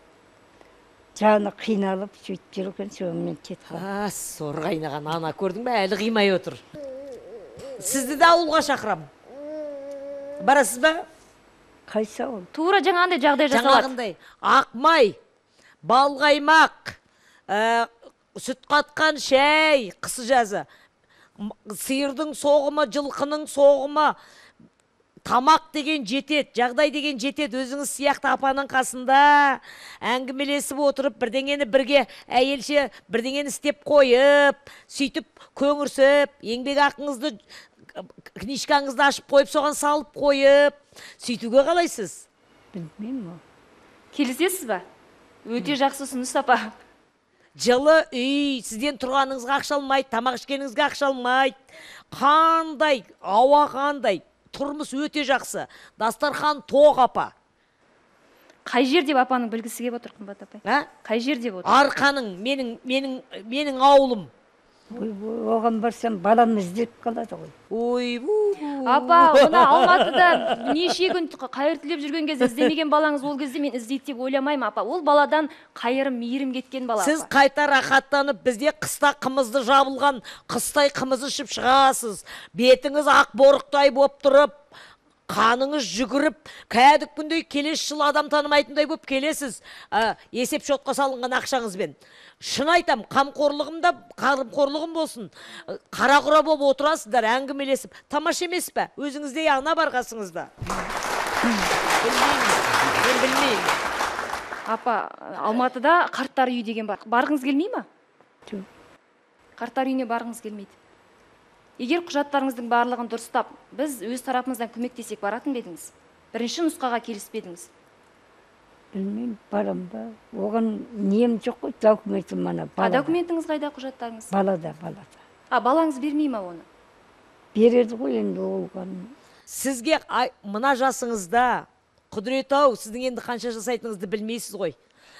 жаны қиналып сөйтіп жүр екен, сонымен кетіп қалдым. Сор қайнаған ана, көрдің бе, әлі қимай отыр. Сізді де ауылға шақырам. Барасыз ба? Қайсы ауыл? Тура жаңағындай жағдай жасалады. Жаңағындай ақмай, балғаймақ, сүт қатқан шәй, қысы жазы, сиырдың соғымы, жылқының соғымы, тамақ деген жетет, жағдай деген жетет. Өзіңіз сияқты апаның қасында әңгімелесіп отырып, бірдеңені бірге әйелше бірдеңені істеп қойып, сөйтіп көңірсіп, еңбек ақыңызды, книжкаңызды ашып қойып, соған салып қойып, сөйтуге қалайсыз? Білмеймін. Келісесіз ба? Өте жақсы ұсыныс, апа. Жылы үй, сізден тұрғаныңызға ақша алмайды, тамақ ішкеніңізге ақша алмайды. Қандай, ауа қандай, тұрмыс өте жақсы. Дастархан тоқ апа. Қай жер деп апаның білгісі кеп отыр, қымбат апай? Қай жер деп отыр? Арқаның, менің ауылым. Оған барсам балам іздеп қалады ғой. Апа, мына Алматыда неше күн қайыртылеп жүрген кезде іздемеген балаңыз ол кезде мен іздейді деп ойламаймын, апа. Ол баладан қайырым, мейірім кеткен бала. Сіз қайта рахаттанып, бізде қыста қымызды жабылған, қыстай қымыз ішіп шығасыз. Бетіңіз ақ борықтай боп тұрып, қаныңыз жүгіріп, кәдік күндей келесі жыл адам танымайтындай боп келесіз. Есеп шотқа салынған ақшаңызбен. Шын айтам, қамқорлығым болсын. Қара-құра болып отырасыздар, әңгімелесіп. Тамаша емес пе? Өзіңізде ана бар қасыңызда. Білмеймін. Апа, Алматыда қарттар үйі деген бар. Барғыңыз келмей ма? Қарттар үйіне барғыңыз келмейді. Егер құжаттарыңыздың барлығын дұрыстап, біз өз тарапымыздан көмектесек баратын бедіңіз? Бірінші нұсқаға келіспедіңіз? Білмеймін, барам ба. Оған нем жоқ қой, документім мана балада. Документіңіз қайда, құжаттарыңыз? Балада. Балаңыз бермей ма оны? Береді ғой енді оған. Сізге мына жасыңызда, құдірет-ау, сіздің енді қанша жасайтыныңызды білмейсіз ғой.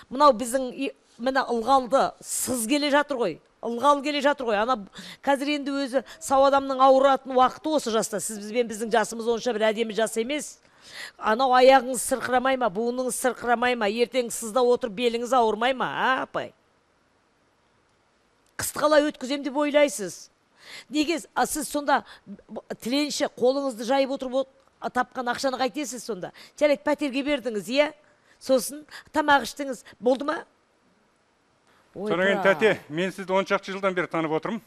Мынау біздің мына ылғалды сыз келе жатыр ғой. Ылғал келе жатыр ғой. Ана қазір енді өзі сау адамның ауыратын уақыты осы жаста. Сіз бізбен біздің жасымыз онша бір әдемі жас емес. Анау аяғыңыз сырқырамай ма, буыныңыз сырқырамай ма, ертең сызда отырып беліңіз ауырмай ма, апай? Қысты қалай өткізем деп ойлайсыз? Неге сіз сонда тіленші қолыңызды жайып отырып тапқан ақшаны қайтесіз сонда? Жарайды, пәтерге бердіңіз, иә? Сосын тамақ іштіңіз, болды ма? Сонымен тәте, мен сізді 10 шақты жылдан бері танып отырмын.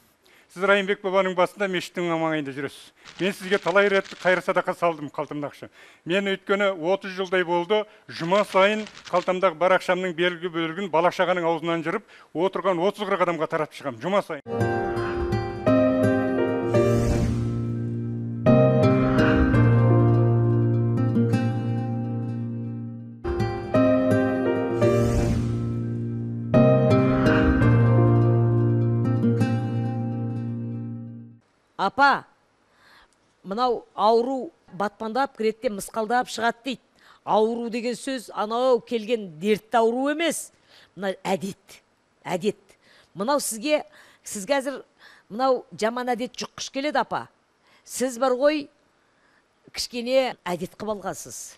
Сіз Райымбек бабаның басында мешіттің маңайында жүресіз. Мен сізге талай рет қайыр садақа салдым қалтамда ақша. Мен өйткені 30 жылдай болды, жұма сайын қалтамдағы бар ақшамның белгі бөлігін бала-шағаның аузынан жырып, отырған 30-40 адамға таратып шығамын, жұма сайын. Апа, мынау ауру батпандап кіретте мысқалдап шығады дейді. Ауру деген сөз анау келген дертті ауру емес. Мына әдет. Мынау сіз қазір мынау жаман әдет жұққыш келеді, апа. Сіз бар ғой, кішкене әдет қып алғансыз.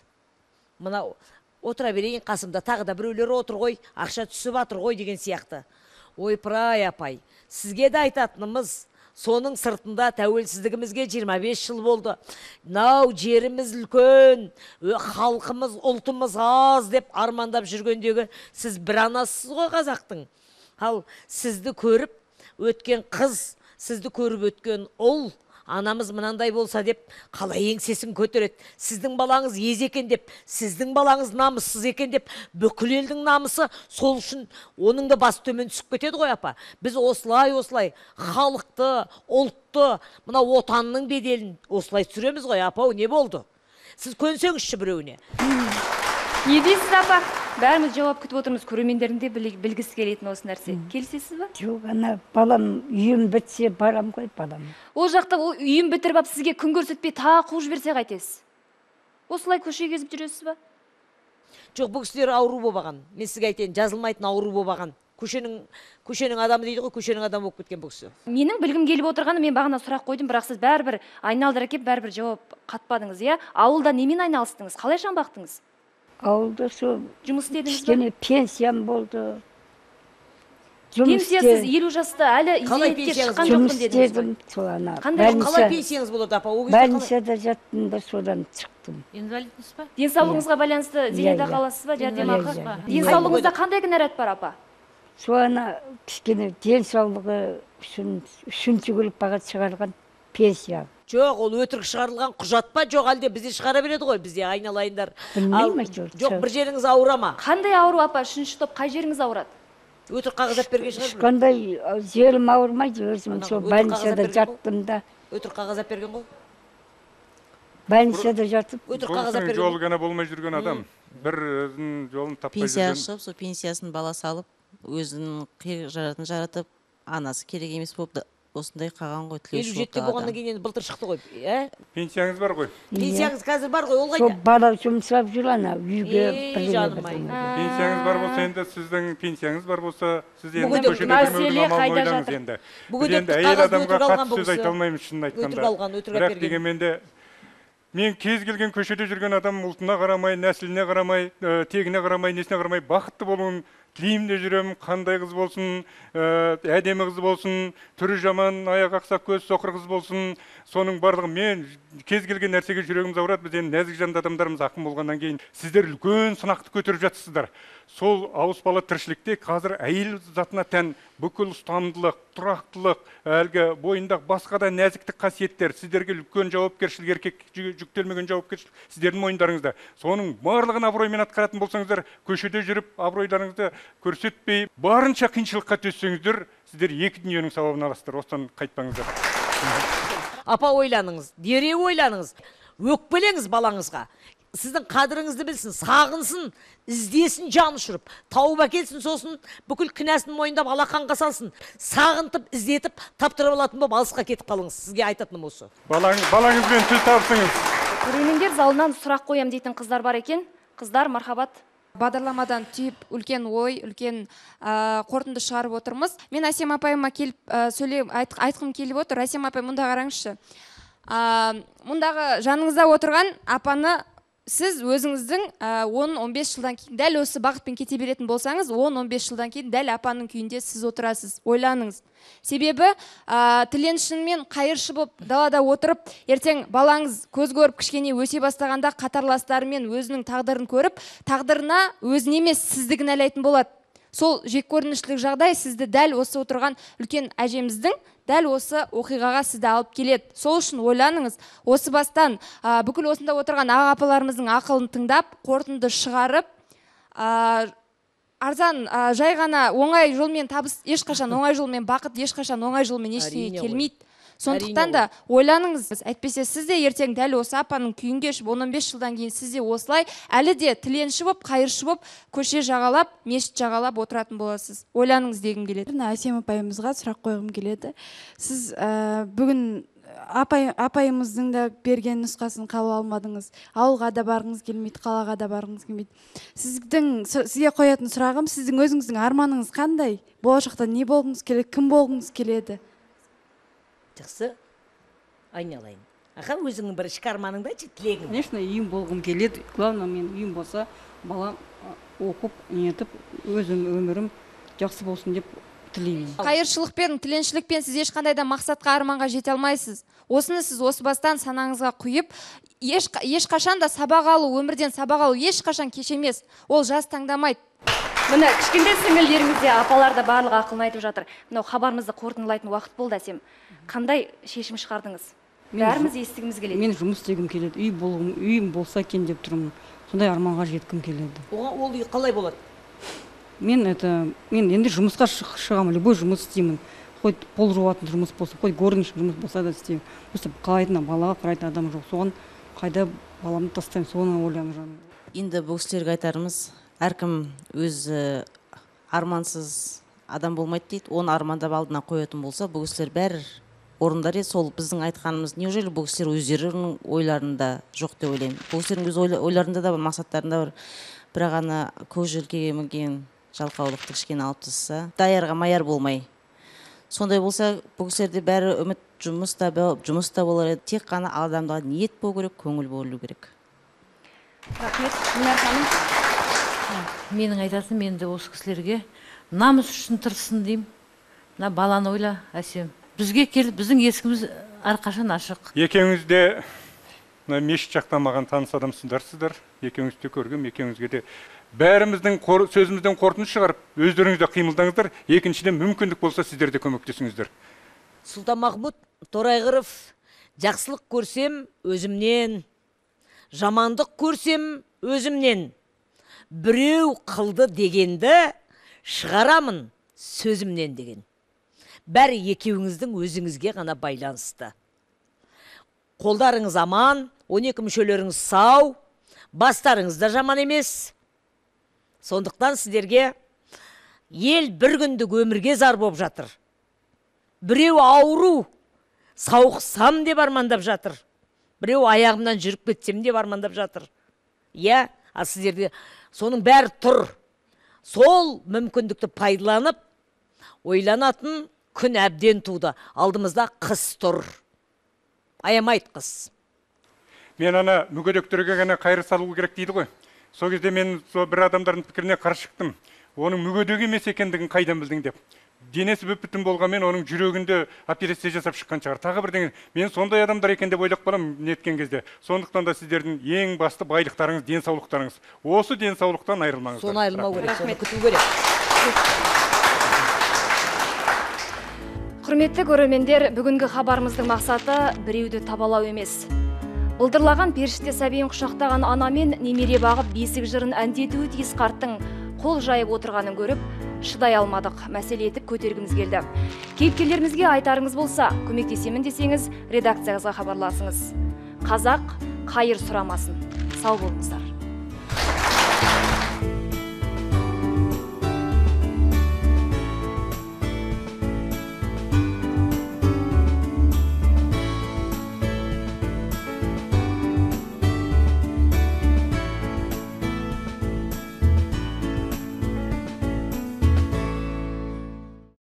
Мынау отыра берейін қасымда, тағы да біреулер отыр ғой, ақша түсіп атыр ғой деген сияқты. Ойпыр-ай, апай, сізге де айтатынымыз, соның сыртында тәуелсіздігімізге 25 жыл болды. Нау жеріміз үлкен, халқымыз, ұлтымыз аз деп армандап жүргендегі сіз бір анасыз ғой қазақтың. Ал сізді көріп өткен қыз, сізді көріп өткен ұл, анамыз мынандай болса деп қалай еңсесін көтереді. Сіздің балаңыз ез екен деп, сіздің балаңыз намыссыз екен деп, бүкіл елдің намысы сол үшін оның да басы төмен түсіп кетеді ғой апа. Біз осылай халықты, ұлтты, мына отанның беделін осылай түсіреміз ғой апа. Не болды? Сіз көнсеңізші біреуіне. Не дейсіз апа? Бәріміз жауап күтіп отырмыз, көрермендердің де білгісі келетін осы нәрсе. Келісесіз ба? Жоқ, ана балам үйім бітсе барам ғой балам. Ол жақта үйім бітіріп алып сізге күн көрсетпей тағы қуып жіберсе қайтесіз? Осылай көше кезіп жүресіз ба? Жоқ, бұл кісілер ауру болбаған. Мен сізге айтайын, жазылмайтын ауру болбаған. Көшенің адамы дейді ғой, көшенің адамы болып кеткен бұл кісі. Менің білгім келіп отырғаны, мен бағана сұрақ қойдым, бірақ сіз бәрібір айналдыра кеп, бәрібір жауап қатпадыңыз, иә? Ауылда немен айналыстыңыз? Қалай бақтыңыз? Ауылда сол жұмыс істедіңіз ба? Кішкене пенсиям болды. Пенсиясыз 50 жаста әлі зейнетке шыққан жоқпын дедіңіз ба? Сол ана. Қалай пенсияңыз болады апа? Больницада жаттым да содан шықтым. Инвалидсіз ба? Денсаулығыңызға байланысты зейнетақы аласыз ба, жәрдемақы? Денсаулығыңызда қандай кінәрат бар апа? Сол ана кішкене денсаулығы үшін үшінші күліп шығарған пенсия. Жоқ, ол өтірік шығарылған құжат па? Жоқ, әлде бізде шығара береді ғой, бізде айналайындар. Білмеймін, жоқ, бір жеріңіз ауыра ма? Қандай ауру апа? Үшінші топ қай жеріңіз ауырады? Өтірік қағаз алып берген шығар. Ешқандай жерім ауырмайды, өзім сол больницада жаттым да. Өтірік қағаз алып берген ғой? Больницада жатып. Өтірік қағаз алып берген. Жолы ғана болмай жүрген адам, бір өзінің жолын таппай жүрген. Пенсия шығып, сол пенсиясын бала салып, өзінің жаратын жаратып, анасы керек емес болды. Осындай қаған ғой, тілеуші болды. 57-те болғаннан кейін былтыр шықты ғой. Пенсияңыз бар ғой? Пенсияңыз қазір бар ғой, ол қайда? Сол бала жұмсап жүр ана, үйге Пенсияңыз бар болса, енді сіздің пенсияңыз бар болса, сіз енді көшеде мәселе қайда жатыр? Енді әйел адамға қатты сөз айта алмаймыз шынын айтқанда. Бірақ дегенменде мен кез келген көшеде жүрген адам ұлтына қарамай, нәсіліне қарамай, тегіне қарамай, несіне қарамай бақытты болуын тілеймін де жүремін. Қандай қыз болсын, әдемі қыз болсын, түрі жаман, аяқ ақсақ, көз соқыр қыз болсын, соның барлығы мен кез келген нәрсеге жүрегіміз ауырады. Біз енді нәзік жанды адамдарымыз ақын болғаннан кейін сіздер үлкен сынақты көтеріп жатсыздар. Сол ауыспалы тіршілікте қазір әйел затына тән бүкіл ұстамдылық, тұрақтылық, әлгі бойындағы басқа да нәзіктік қасиеттер, сіздерге үлкен жауапкершілік, еркек жүктелмеген жауапкершілік сіздердің мойындарыңызда. Соның барлығын абыроймен атқаратын болсаңыздар, көшеде жүріп абыройларыңызды көрсетпей, барынша қиыншылыққа төссеңіздер, сіздер екі дүниенің сауабын аласыздар. Осыдан қайтпаңыздар. Апа, ойланыңыз, дереу ойланыңыз, өкпелеңіз балаңызға. Сіздің қадіріңізді білсін, сағынсын, іздесін, жан ұшырып, тауып әкелсін, сосын бүкіл кінәсін мойындап алақанға салсын, сағынтып, іздетіп, таптырып алатын болып алысқа кетіп қалыңыз. Сізге айтатыным осы. Балаңызбен тіл табысыңыз. Көрермендер залынан сұрақ қоям дейтін қыздар бар екен. Қыздар, мархабат. Бағдарламадан түйіп үлкен ой, үлкен қорытынды шығарып отырмыз. Мен Әсем апайыма келіп айтқым келіп отыр. Әсем апай, мұнда қараңызшы. Мұндағы жаныңызда отырған апаны сіз өзіңіздің 10-15 жылдан кейін дәл осы бағытпен кете беретін болсаңыз, 10-15 жылдан кейін дәл апаның күйінде сіз отырасыз. Ойланыңыз. Себебі тіленшінмен қайыршы болып далада отырып, ертең балаңыз көз көріп кішкене өсе бастағанда қатарластарымен өзінің тағдырын көріп, тағдырына өзін емес сізді кінәлайтын болады. Сол жеккөрінішілік жағдай сізді дәл осы отырған үлкен әжеміздің дәл осы оқиғаға сізді алып келеді. Сол үшін ойланыңыз, осы бастан бүкіл осында отырған аға апаларымыздың ақылын тыңдап, қорытынды шығарып, арзан жай ғана оңай жолмен табыс ешқашан, оңай жолмен бақыт ешқашан оңай жолмен ештеңе келмейді. Сондықтан да ойланыңыз, әйтпесе сіз де ертең дәл осы апаның күйін кешіп, 15 жылдан кейін сіз де осылай әлі де тіленші болып, қайыршы болып, көше жағалап, мешіт жағалап отыратын боласыз. Ойланыңыз дегім келеді. Әсем апайымызға сұрақ қойғым келеді. Сіз бүгін апайымыздың да берген нұсқасын қабыл алмадыңыз. Ауылға да барғыңыз келмейді, қалаға да барғыңыз келмейді. Сізге қоятын сұрағым, сіздің өзіңіздің арманыңыз қандай? Болашақта не болғыңыз келеді, кім болғыңыз келеді? Жақсы, айналайын. Аға, өзіңнің бір ішкі арманыңды айтшы, тілегің. Конечно, үйім болғым келеді. Главное, мен үйім болса, балам оқып, нетіп, өзім өмірім жақсы болсын деп тілеймін. Қайыршылықпен, тіленшілікпен сіз ешқандай да мақсатқа, арманға жете алмайсыз. Осыны сіз осы бастан санаңызға құйып, ешқашан да сабақ алу, өмірден сабақ алу ешқашан кеш емес. Ол жас таңдамайды. Міне кішкентай сіңілдеріңіз де, апалар да барлық ақылын айтып жатыр. Мынау хабарымызды қорытындылайтын уақыт болды әсем. Қандай шешім шығардыңыз? Бәріміз естігіміз келеді. Мен жұмыс істегім келеді. Үйім болса екен деп тұрмын. Сондай арманға жеткім келеді. Оған ол үй қалай болады? Мен енді жұмысқа шығамын, любой жұмыс істеймін. Хоть пол жуатын жұмыс болса, хоть горничный жұмыс болса да істеймін. Просто қалайтын балаға қарайтын адам жоқ. Соған қайда баламды тастаймын, соны ойланып жүрмін. Енді бұл кісілерге айтарымыз, әркім өз армансыз адам болмайды дейді. Оны армандап алдына қоятын болса, бұл кісілер бәрі орындар еді. Сол біздің айтқанымыз, неужели бұл кісілер өздерінің ойларында жоқ деп ойлаймын. Бұл кісілердің өз ойларында да бар, мақсаттарында бар. Бірақ ана көз желкеге мінген жалқаулықты кішкене алып тастаса, даярға маяр болмай. Сондай болса, бұл кісілерде бәрі үміт жұмыста болар еді. Тек қана адамға ниет болу керек, көңіл болу керек. Рахмет. Мінар ханым. Менің айтатын, мен де осы кісілерге намыс үшін тырыссын деймін. Мына баланы ойла, әсем. Бізге келіп, біздің есігіміз әрқашан ашық. Екеуіңіз де мешіт жақтан маған таныс адамсыздар. Екеуіңізді көргім, екеуіңізге де бәріміздің сөзімізден қорытынды шығарып, өздеріңізде қимылдаңыздар. Екіншіден мүмкіндік болса сіздер де көмектесіңіздер. Сұлтанмахмұт Торайғыров, жақсылық көрсем өзімнен, жамандық көрсем өзімнен. Біреу қылды дегенді шығарамын сөзімнен деген. Бәрі екеуіңіздің өзіңізге ғана байланысты. Қолдарыңыз аман, 12 мүшелеріңіз сау, бастарыңыз да жаман емес. Сондықтан сіздерге ел бір күндік өмірге зар болып жатыр. Біреу ауру, сауықсам деп армандап жатыр. Біреу аяғымнан жүріп кетсем деп армандап жатыр. Иә, сіздерде соның бәрі тұр. Сол мүмкіндікті пайдаланып, ойланатын күн әбден туды. Алдымызда қыс тұр. Аямайды қыс. Мен ана мүгедектерге ғана қайыр салу керек дейді ғой. Сол кезде мен бір адамдардың пікіріне қарсы шықтым. Оның мүгедек емес екендігін қайдан білдің деп. Денесі бүп-бүтін болғанмен оның жүрегінде операция жасап шыққан шығар. Тағы бірдеңе. Мен сондай адамдар екен деп ойлап қаламын неткен кезде. Сондықтан да сіздердің ең басты байлықтарыңыз, денсаулықтарыңыз. Осы денсаулықтан айырылмаңыздар. Соны айырылмау керек, соны күту керек. Құрметті көрермендер, бүгінгі хабарымыздың мақсаты біреуді табалау емес. Былдырлаған періште сәбиін құшақтаған ана мен немере бағып бесік жырын әндетуі тиіс қарттың қол жайып отырғанын көріп, шыдай алмадық, мәселе етіп көтергіміз келді. Кейіпкерлерімізге айтарыңыз болса, көмектесемін десеңіз, редакциямызға хабарласыңыз. Қазақ қайыр сұрамасын. Сау болыңыздар.